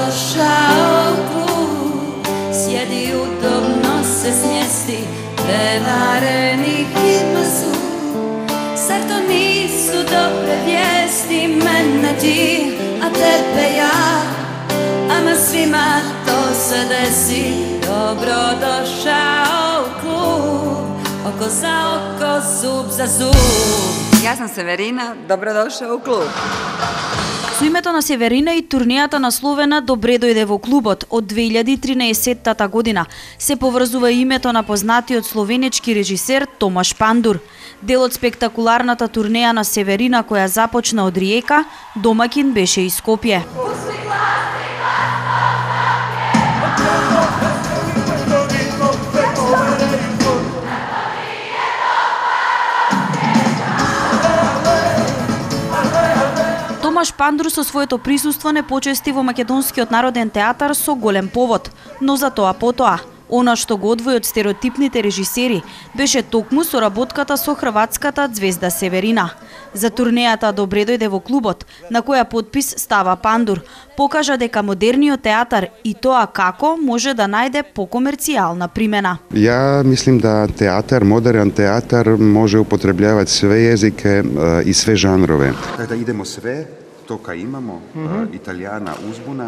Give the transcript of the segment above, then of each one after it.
došao klub, sjedi udobno se smjesti, prevareni hitno su. Zar to nisu dobre vijesti, mene ti, a tebe ja, ama svima to se desi. Dobro došao u klub, oko za oko, zub za zub. Јас сум Северина, добродошла у клуб. Со името на Северина и турнијата насловена "Добре дојде во клубот" од 2013 година се поврзува името на познатиот словенечки режисер Томаш Пандур. Дел од спектакуларната турнеја на Северина која започна од Риека, домаќин беше и Скопје. Томаш Пандур со своето присуство не почести во Македонскиот народен театар со голем повод, но за тоа потоа. Она што го одвои од стереотипните режисери беше токму соработката со хрватската ѕвезда Северина. За турнејата "Добре дојде во клубот", на која подпис става Пандур, покажа дека модерниот театар и тоа како може да најде покомерцијална примена. Ja mislim da teatar, modern teatar može upotrebljavati sve jezike i sve žanrove. Da idemo sve, to ka imamo, Italijana, uzbuna.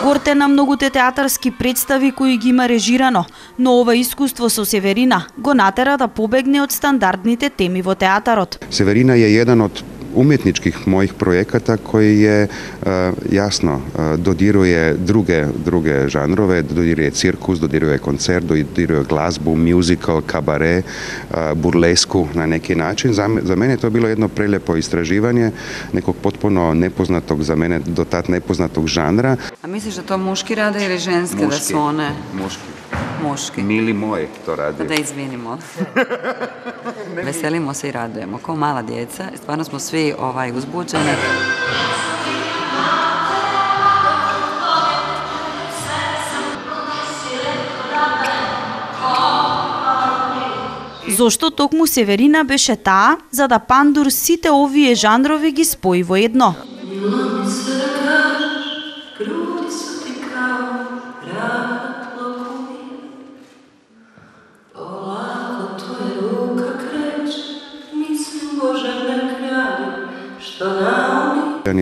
Горте на многуте театарски представи кои ги има режирано, но ова искуство со Северина го натера да побегне од стандардните теми во театарот. Severina je jedan od umjetničkih mojih projekata koji je jasno dodiruje druge žanrove, dodiruje cirkus, dodiruje koncert, dodiruje glazbu, musical, kabare, burlesku na neki način. Za mene je to bilo jedno prelijepo istraživanje nekog potpuno nepoznatog, za mene do tad nepoznatog žanra. А мислиш да тоа мушки раде или женски да се one? Мушки. Mili moj to radi. Da izvinimo. Veselimo se i radujemo, kao mala djeca. Stvarno smo svi uzbuđeni. Зошто токму Северина беше таа, за да Пандур сите овие жанрови ги спои во едно.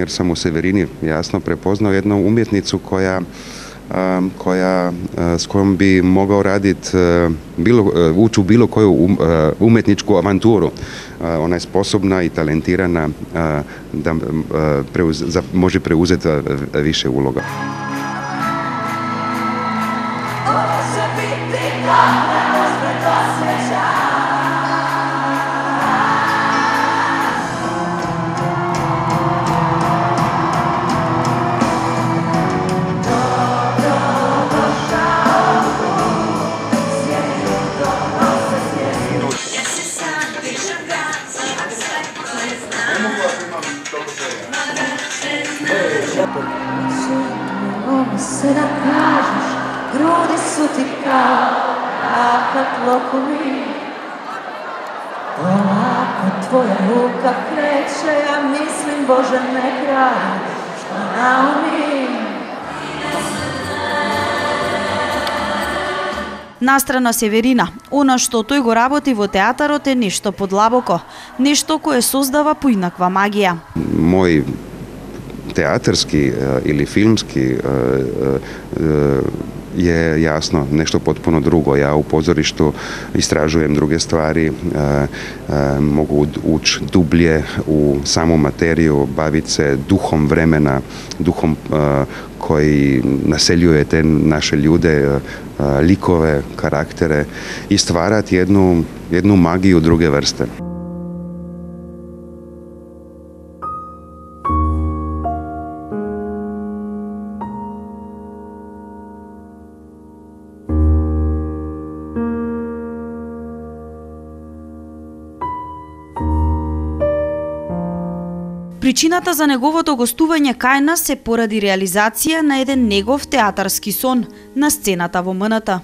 Jer sam u Severini jasno prepoznao jednu umjetnicu s kojom bi mogao raditi, ući u bilo koju umjetničku avanturu. Ona je sposobna i talentirana da može preuzeti više uloga. Se da kažeš, grudi su ti kao rahat lokovi. Polako tvoja ruka kreće, ja mislim, Bože, ne kraj, što naumim. Настрана Северина, она што тој го работи во театарот е нешто подлабоко, нешто кое создава поинаква магија. Moj teatarski ili filmski je jasno nešto potpuno drugo. Ja u pozorištu istražujem druge stvari, mogu ući dublje u samu materiju, baviti se duhom vremena, duhom koji naseljuje te naše ljude, likove, karaktere i stvarati jednu magiju druge vrste. При Причината за неговото гостување кај нас се поради реализација на еден негов театарски сон на сцената во МНТ.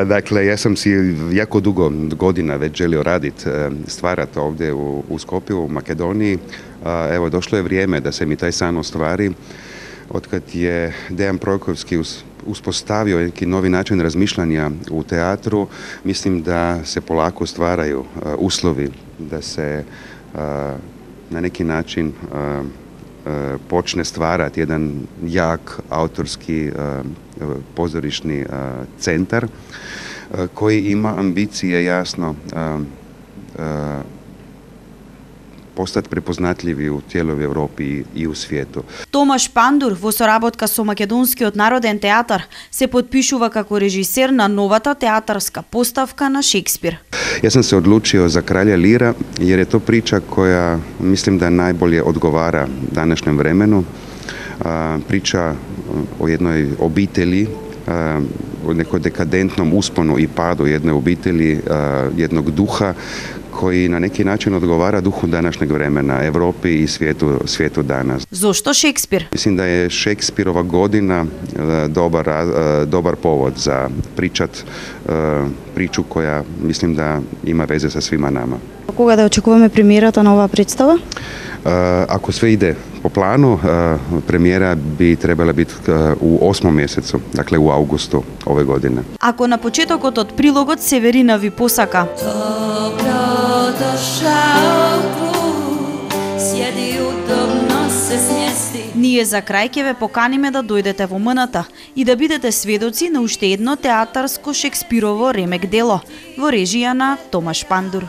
Dakle, ja sam si jako dugo godina već želio raditi, stvarati ovdje u Skopju, u Makedoniji. Evo, došlo je vrijeme da se mi taj san ostvari. Otkad je Dejan Projkovski uspostavio neki novi način razmišljanja u teatru, mislim da se polako stvaraju uslovi da se na neki način počne stvarati jedan jak autorski pozorišni centar koji ima ambicije jasno postati prepoznatljivi u cijeloj Evropi i u svijetu. Томаш Пандур во соработка со Македонскиот народен театар се потпишува како режисер на новата театарска поставка на Шекспир. Ja sam se odlučio za Kralja Lira jer je to priča koja mislim da najbolje odgovara današnjem vremenu. Priča o jednoj obitelji, o nekom dekadentnom usponu i padu jedne obitelji, jednog duha koji na neki način odgovara duhu današnjeg vremena, Evropi i svijetu danas. Зошто Шекспир? Mislim da je Šekspirova godina dobar povod za priču koja mislim da ima veze sa svima nama. Кога да очекуваме премиерата на оваа представа? Ako sve ide po planu, premijera bi trebala biti u 8. mjesecu, dakle u augustu ove godine. Ако на почетокот од прилогот Северина ви посака. Dobro došao klub, sjedi udobno se smjesti. Ние за крај ќе ве поканиме да дојдете во МНТ и да бидете сведоци на уште едно театарско Шекспирово ремек дело во режија на Томаш Пандур.